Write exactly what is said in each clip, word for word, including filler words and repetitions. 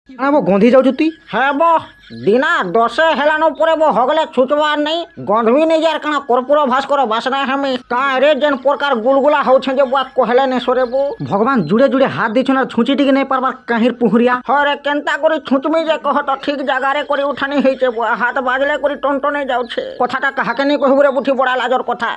କାଣା ବୋ ଗନ୍ଧି ଯାଉଛୁ ତୁଇ? ହେବ ଦିନା ଦଶେ ହେଲାନ ପରେ ବୋ ହଗଲେ ଛୁଚବାର ନାଇଁ, ଗନ୍ଧବି ନେଇ ଯାର। କାଣା କର୍ପୂର ଭାସ୍କର ବାସନା ହେମି କାଁ ରେ? ଯେନ୍ ପ୍ରକାର ଗୁଲଗୁଲା ହଉଛେ ଯେ ବୁଆ କହେଲେ ନାଇଁ ସରେ ବୋ। ଭଗବାନ ଜୁଡ଼େ ଜୁଡ଼େ ହାତ ଦେଇଛନ୍ ଆର୍ ଛୁଞ୍ଚି ଟିକେ ନାଇଁ ପାରବାର, କାହିଁର ପୁହୁରିଆ? ହରେ, କେନ୍ତା କରି ଛୁଚମି ଯେ କହ ତ? ଠିକ ଜାଗାରେ କରି ଉଠାନି ହେଇଛେ ବୁଆ, ହାତ ବାଜଲେ କରି ଟନଟନେଇ ଯାଉଛେ। କଥାଟା କାହାକେ ନାଇଁ କହିବୁ ରେ ବୁଠି, ବଡା ଲାଜର କଥା।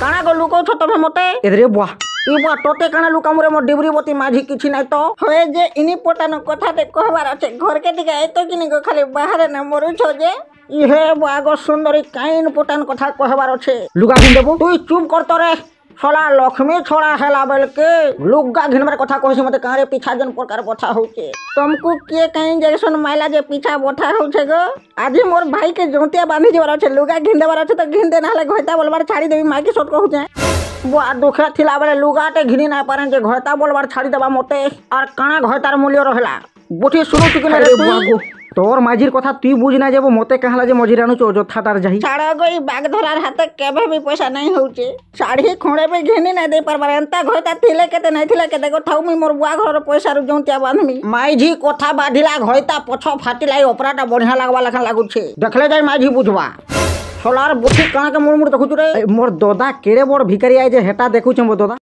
କାଣା ଗୋ ଲୁକଉଛ ତମେ ମତେ? ଏଦରେ ବୁଆ। ଇ ବୁଆ, ତତେ କାଣା ଲୁକାମୁରେ ମୋ ଡିବରି ବତି ମାଝି? କିଛି ନାଇଁ ତ। ହଏ ଯେ ଇନି ପଟାନ କଥାଟେ କହବାର ଅଛି, ଘରକେ ଟିକେ ଆଇତ କି ନି ଗୋ, ଖାଲି ବାହାରେ ନା ମରୁଛ ଯେ। ଇହେ ବୁଆ ଗୋ ସୁନ୍ଦରୀ, କାଇନ ପଟାନ କଥା କହବାର ଅଛି? ଲୁଗା ଘିନ୍ ଦେବୁ। ତୁଇ ଚୁପ କର ତରେ। ଶଳା ଲକ୍ଷ୍ମୀ ଛଡ଼ା ହେଲା ବେଲକେ ଲୁଗା ଘିନବାର କଥା କହୁଛି ମତେ। କାଁରେ ପିଛା ଯେନ୍ ପ୍ରକାର ବଥା ହଉଛେ, ତମକୁ କିଏ କାଇଁ ଇଞ୍ଜେକ୍ସନ ମାଇଲା ଯେ ପିଛା ବଥା ହଉଛେ ଗୋ? ଆଜି ମୋର ଭାଇକେ ଜନ୍ତିଆ ବାନ୍ଧି ଯିବାର ଅଛି, ଲୁଗା ଘିନ୍ ଦେବାର ଅଛି ତ ଘିନ୍ ଦେ, ନହେଲେ ଘଇତା ବୋଲବାର ଛାଡ଼ି ଦେବି। ମାଇକି ସତ କହୁଛେ ବୁଆ, ଦୁଃଖେ ଥିଲା ବେଲେ ଲୁଗାଟେ ଘିନି ନାଇଁ ପାରେଁ ଯେ ଘଇତା ବୋଲବାର ଛାଡ଼ି ଦେବା ମତେ। ଆର୍ କାଣା ଘଇତାର ମୂଲ୍ୟ ରହେଲା ବୁଠି, ଶୁଣୁଛୁ କି ନାଇଁ ରେ ଆରେ ବୁଆ ତୁଇ? ଗୋ, ତୋର ମାଝିର କଥା ତୁଇ ବୁଝ ନା যাব, ମତେ କାହାଲା ଯେ ମଝିରେ ଆଣୁଛୁ ଅଯଥାଟାର ଯାହି? ଛାଡ଼ ଗୋ, ଇ ବାଘ ଧରାର ହାତେ କେବେ ବି ପଇସା ନାଇଁ ହଉଛେ, ଶାଢ଼ୀ ଖଣ୍ଡେ ବି ଘିନି ନାଇଁ ଦେଇ ପାରବାର। ଏନ୍ତା ଘଇତା ଥିଲେ କେତେ, ନାଇଁ ଥିଲେ କେତେ ଗୋ। ଥାଉ, ମୁଇଁ ମୋର ବୁଆ ଘରର ପଇସାରୁ ଜଉନ୍ତିଆ ବାନ୍ଧମି। ମାଇଝି କଥା ବାଧିଲା ଘଇତା ପଛ ଫାଟିଲା, ଏଇ ଅପରାଟା ବଢିଆ ଲାଗବା ଲେଖା ଲାଗୁଛେ। ଦେଖଲେ ଯାଇ ମାଇଝି ବୁଝବା। ସଲାର ବୁଠି, କାଣାକେ ମୁଡ଼ ମୁଡ଼ ଦେଖୁଛୁ ରେ? ଏ, ମୋর ଦଦା କେଡ଼େ ବଡ଼ ଭିକାରୀ ଆଏ ଯେ ହେଟା ଦେଖୁଛେ ମୋ ଦଦା।